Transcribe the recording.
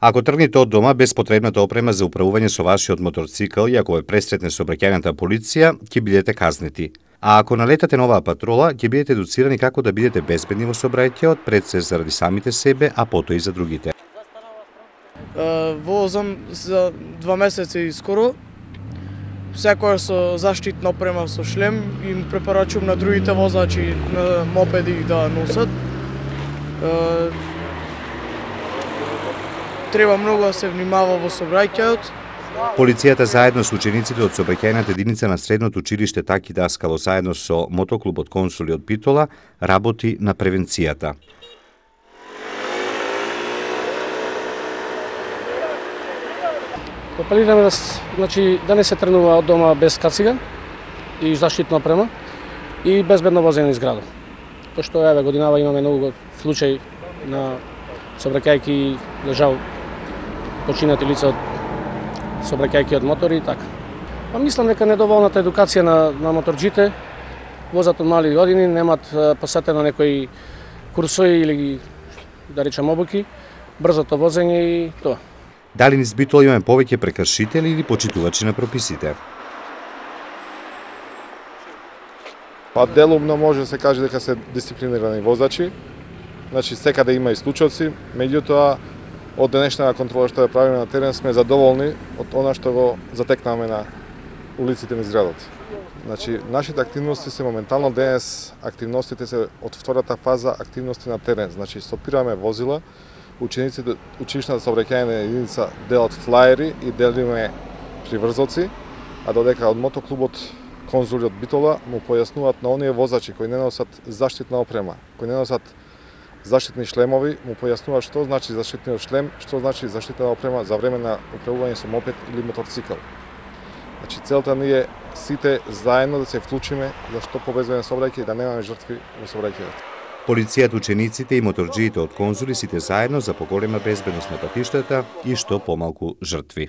Ако тргнете од дома без потребната опрема за управување со вашиот моторцикл и ако ве пресретне сообраќајната полиција, ќе бидете казнети. А ако налетате на оваа патрола, ќе бидете едуцирани како да бидете безбедни во сообраќајот, пред се заради самите себе, а потоа и за другите. Возам за 2 месеци и скоро. Секоја со заштитна опрема со шлем и им препорачувам на другите возачи на мопеди да носат. Треба многу да се внимава во сообраќајот. Полицијата заедно со учениците од сообраќајната единица на средното училиште Таки Даскало заедно со мотоклубот Консули од Битола работи на превенцијата. Апелираме да не се тренува од дома без кацига и заштитна опрема и безбедно возење низ градот. Пошто годинава имаме многу случаи на сообраќајки лежал починати лица од сообраќајки од мотори и така. Мислам дека недоволната едукација на моторџите, возат од мали години, немат посетено некои курсови или да речем обуки, брзото возење и тоа. Дали низ Битола имаме повеќе прекршители или почитувачи на прописите? Делумно може да се каже дека се дисциплинирани возачи. Секаде има и случаи, меѓутоа од денешната контрола што ја правиме на терен сме задоволни од она што го затекнаме на улиците низ градот. Нашите активности се моментално денес, активностите се од втората фаза активности на терен. Стопираме возила, учениците училишната сообраќајна единица делат флаери и делиме приврзоци, а додека од мотоклубот Конзули од Битола му појаснуваат на оние возачи кои не носат заштитна опрема, кои не носат заштитни шлемови, му појаснуваат што значи заштитниот шлем, што значи заштитна опрема за време на управување со мопед или моторцикл. Целта ни е сите заедно да се вклучиме за што побезбеден сообраќај и да немаме жртви во сообраќајот. Полицијата, учениците и моторџиите од Конзули сите заедно за поголема безбедност на патиштата и што помалку жртви.